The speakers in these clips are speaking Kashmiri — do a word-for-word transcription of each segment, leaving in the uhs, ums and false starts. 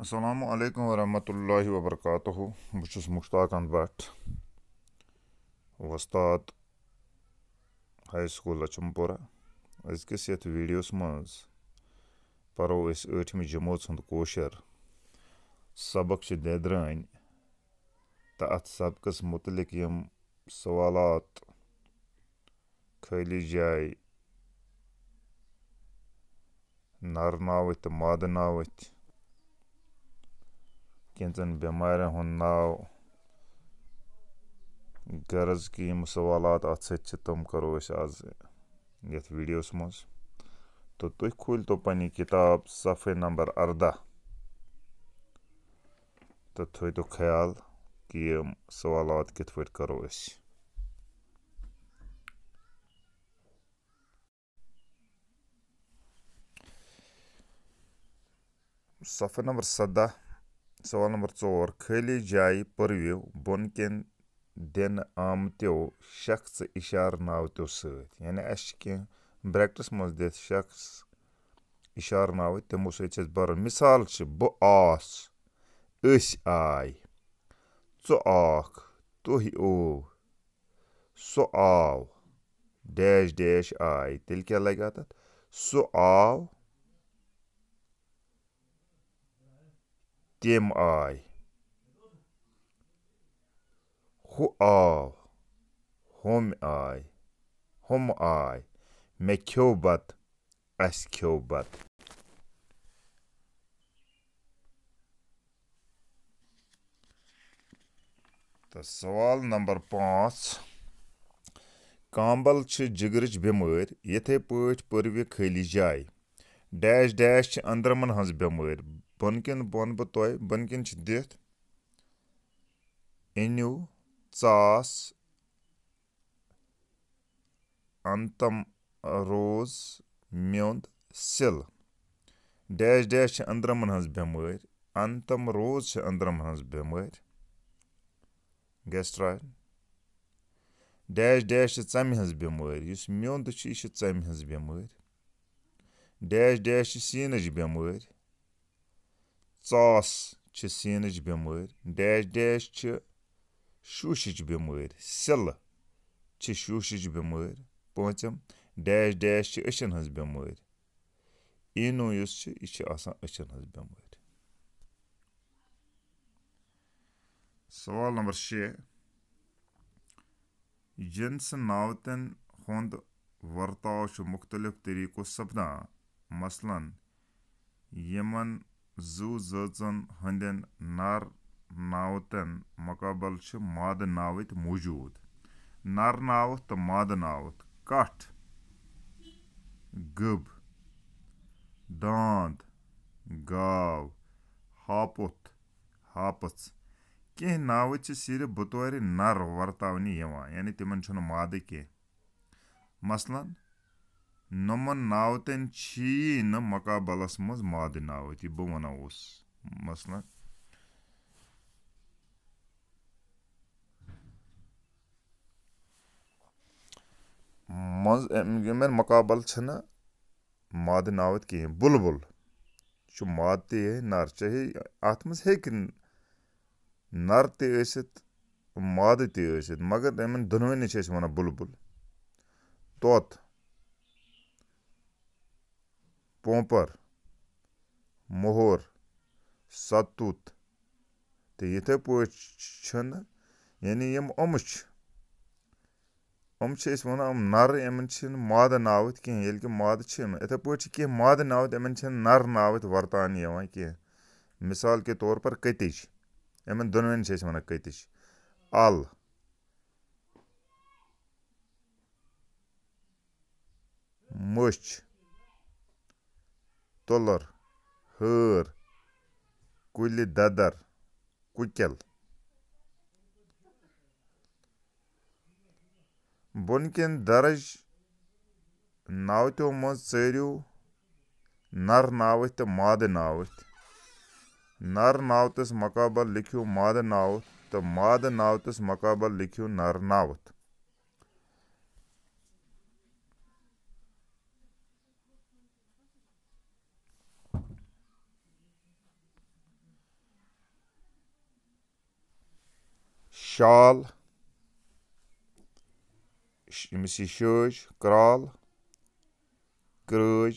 السلام علیکم ورحمۃ اللہ وبرکاتہ۔ بہٕ چھُس مشتاق احمد بٹ، وۄستاد ہاے سکوٗل لچھم پورہ۔ أزکِس یَتھ ویٖڈیوَس منٛز پَرو أسۍ ٲٹھمہِ جمٲژ ہُنٛد کٲشُر۔ سبق چھِ دٮ۪درٲنۍ تہٕ اَتھ سبقَس مُتعلِق یِم سوالات، خٲلی جایہِ، نر ناوٕتۍ تہٕ مادٕ ناوٕتۍ، کینٛژن بٮ۪مارٮ۪ن ہُنٛد ناو، غرض کہِ یِم سوالات اَتھ سۭتۍ چھِ، تِم کرو أسۍ آز یَتھ ویٖڈیوَس منٛز۔ تہٕ تُہۍ کھوٗلۍ تو پنٕنۍ کِتاب صفحے نمبر اَرداہ تہٕ تھٲوۍ تو خیال کہِ یِم سوالات کِتھ پٲٹھۍ کرو أسۍ۔ صفحہ نمبر سَداہ، سوال نمبر ژور، خٲلی جایہِ پٔرِو بۄن کٮ۪ن دِنہٕ آمتیو شخص اِشارٕ ناوتیو سۭتۍ۔ یعنی اَسہِ چھِ کینٛہہ bracketس منٛز دِتھ شخص اِشارٕ ناوٕتۍ، تِمو سۭتۍ چھِ أسۍ بَرُن۔ مثال چھِ، بہٕ آس، أسۍ آے، ژٕ آکھ، تُہۍ ٲو، سُہ آو، dash dash آے۔ تیٚلہِ کیٛاہ لَگہِ اَتھ؟ سُہ آو، تِم آے، ہُہ آو، ہُم آے، ہُم آے، مےٚ کھیوٚو بَتہٕ، اَسہِ کھیوٚو بَتہٕ۔ تہٕ سوال نمبر پانٛژھ، کامبل چھِ جگرٕچ بٮ۪مٲرۍ، یِتھے پٲٹھۍ پٔرِو خٲلی جایہِ۔ Dash dash چھِ أنٛدرمن ہٕنٛز بٮ۪مٲرۍ۔ بۄن کِن، بۄن بہٕ تۄہہِ، بۄن کِن چھِ دِتھ، أنِو، ژاس، انتم روز، میوٚنٛد، سِل۔ Dash dash چھِ أنٛدرمن ہٕنٛز بٮ۪مٲرۍ۔ انتم روز چھِ أنٛدرمن ہٕنٛز بٮ۪مٲرۍ، gastro۔ Dash dash چھِ ژَمہِ ہٕنٛز بٮ۪مٲرۍ۔ یُس میوٚنٛد چھُ، یہِ چھِ ژَمہِ ہٕنٛز بٮ۪مٲرۍ۔ Dash dash چھِ سیٖنٕچ بٮ۪مٲرۍ۔ ژاس چھِ سیٖنٕچ بٮ۪مٲرۍ۔ Dash dash چھِ شوٗشِچ بٮ۪مٲرۍ۔ سِلہٕ چھِ شوٗشِچ بٮ۪مٲرۍ۔ پٲنٛژِم، dash dash چھِ أچھن ہٕنٛز بٮ۪مٲرۍ۔ ایٖنو یُس چھِ، یہِ چھِ آسان أچھن ہٕنٛز بٮ۪مٲرۍ۔ سوال نمبر شےٚ، جنسہٕ ناوتن ہُنٛد ورتاو چھُ مُختٔلِف طریٖقو سپدان۔ مثلاً، یِمن زُو زٲژن ہٕنٛدٮ۪ن نر ناوتن مقابل چھِ مادٕ ناوٕتۍ موجود۔ نر ناوُت تہٕ مادٕ ناوُت، کٹھ، گٔب، داند، گاو، ہاپُتھ، ہاپٕژ۔ کینٛہہ ناوٕ چھِ صرف بطورِ نر ورتاونہٕ یِوان، یعنی تِمن چھُنہٕ مادٕ کینٛہہ۔ مثلاً، نۄمن ناوتن چھی نہٕ مقابلس منٛز مادٕ ناوٕتۍ، یہِ بہٕ ونان اوسُس۔ مثلاً، منٛز، یِمن مقابل چھِنہٕ مادٕ ناوٕتۍ کِہیٖنۍ۔ بُلبُل چھُ مادٕ تہِ یہِ نر، چاہے اَتھ منٛز ہیٚکہِ نر تہِ ٲسِتھ، مادٕ تہِ ٲسِتھ، مگر یِمن دۄنوٕنی چھِ أسۍ وَنان بُلبُل۔ طوطہٕ، پونٛپر، مۄہر، ستوٗت، تہٕ یِتھے پٲٹھۍ چھِنہٕ، یعنی یِم یِم چھِ، یِم چھِ أسۍ وَنان، یِم نَرٕ، یِمَن چھِنہٕ مادٕ ناوٕتۍ کینٛہہ، ییٚلہِ کہِ مادٕ چھِ یِمَن۔ یِتھے پٲٹھۍ چھِ کینٛہہ مادٕ ناوٕتۍ، یِمَن چھِنہٕ نَر ناوٕتۍ ورتاونہٕ یِوان کینٛہہ۔ مثال کے طور پر کٔتِج، یِمَن دۄنوَنی چھِ أسۍ وَنان کٔتِج۔ اَل، مٔچھ، تُلر، ہٲر، کُلہِ ددر، کُکٮ۪ل۔ بۄن کٮ۪ن درج ناوتو منٛز ژٲرِو نر ناوٕتۍ تہٕ مادٕ ناوٕتۍ۔ نر ناوتس مقابل لیکھِو مادٕ ناوُت تہٕ مادٕ ناوتس مقابل لیکھِو نر ناوُت۔ شال، ش-، أمِس یہِ شٲج، کرال، کرٲج،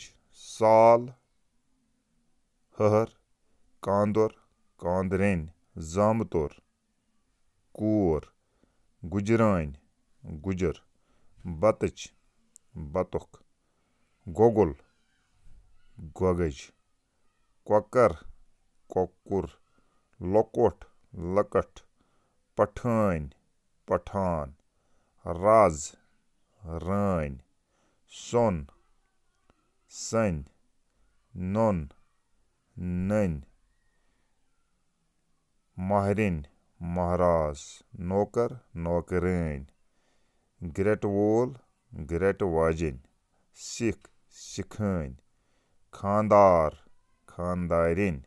سال، ہہر، کاندُر، کاندرٮ۪ن، زامتُر، کوٗر، گُجرٲنۍ، گُجر، بَتٕچ، بَتُک، گۄگُل، گۄگٕج، کۄکَر، کۄکُر، لۄکُٹ، لۄکٕٹ، پٹھٲنۍ، پٹھان، رَز، رٲنۍ، سۄن، سٔنۍ، نۄن، نٔنۍ، ماہرِنۍ، ماہراز، نوکر، نوکرٲنۍ، گرٛٹہٕ وول، گرٛٹہٕ واجیٚنۍ، سِکھ، سِکھٲنۍ، خانٛدار، خانٛدارِنۍ،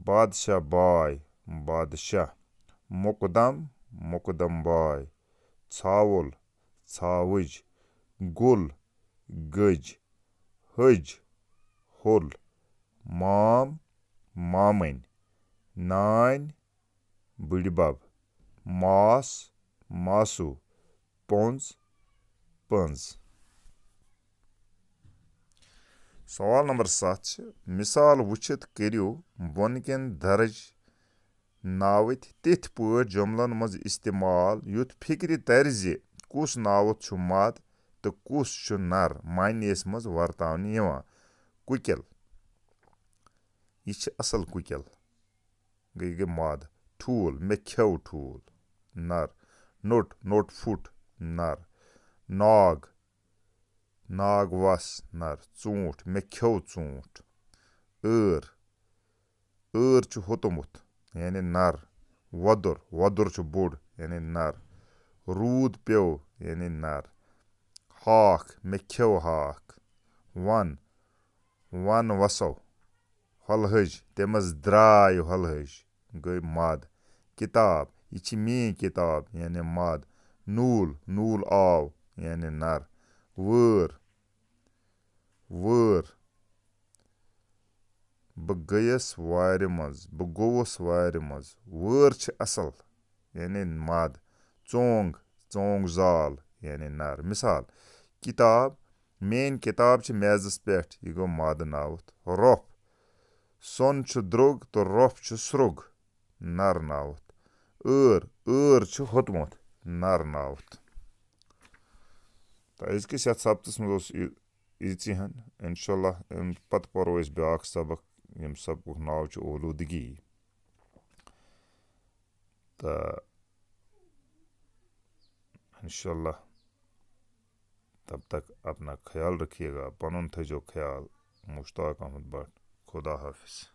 بادشاہ باے، بادشاہ، مقدم، مقدم باے، ژھاوُل، ژھاوٕج، گُل، گٔج، ۂج، ہوٚل، مام، مامٕنۍ، نانۍ، بٕڈِبب، ماس، ماسوٗ، پۄنٛز، پٔنٛز۔ سوال نمبر ستھ چھِ، مثال وٕچھِتھ کٔرِو بۄنہٕ کٮ۪ن درج ناوٕتۍ تِتھۍ پٲٹھۍ جملن منٛز استعمال، یُتھ فکرِ ترِ زِ کُس ناوُت چھُ مد تہٕ کُس چھُ نر معنیَس منٛز ورتاونہٕ یِوان۔ کُکِل، یہِ چھِ اصل کُکِل۔ گٔے، گٔے مد۔ ٹھوٗل، مےٚ کھیوٚو ٹھوٗل، نر۔ نوٚٹ، نوٚٹ پھُٹ، نر۔ ناگ، ناگ وس، نر۔ ژوٗنٛٹھ، مےٚ کھیوٚو ژوٗنٛٹھ۔ ٲر، ٲر چھُ ہوٚتمُت، یعنی نر۔ وۄدُر، وۄدُر چھُ بوٚڑ، یعنی نر۔ روٗد پیوٚو، یعنی نر۔ ہاکھ، مےٚ کھیوٚو ہاکھ۔ ون، ون وسو۔ ہۄلہٕ ہٕج، تٔمِس درٛاے ہۄلہٕ ہٕج، گٔے مد۔ کِتاب، یہِ چھِ میٛٲنۍ کِتاب، یعنی مد۔ نوٗل، نوٗل آو، یعنی نر۔ وٲر، وٲر، بہٕ گٔیَس وارِ منٛز، بہٕ گوٚوُس وارِ منٛز۔ وٲر چھِ اَصٕل، یعنی مد۔ ژونٛگ، ژونٛگ زال، یعنی نر۔ مثال، کِتاب، میٛٲنۍ کِتاب چھِ میزَس پٮ۪ٹھ، یہِ گوٚو مد ناوُت۔ رۄپھ، سۄن چھُ درٛوٚگ تہٕ رۄپھ چھُ سرٛوٚگ، نر ناوُت۔ ٲر، ٲر چھُ ہوٚتمُت، نر ناوُت۔ تہٕ أزکِس یَتھ سبقَس منٛز اوس یہِ، ییٖژٕے ہَن۔ اِنشاء اللہ، اَمہِ پَتہٕ پَرو أسۍ بیٛاکھ سبق، ییٚمہِ سبقُک ناو چھُ اولوٗدگی۔ تہٕ انشاءاللہ، تب تک اپنا خیال رکھیے گا، پنُن تھٲیزیو خیال۔ مشتاق احمد بٹ، خدا حافظ۔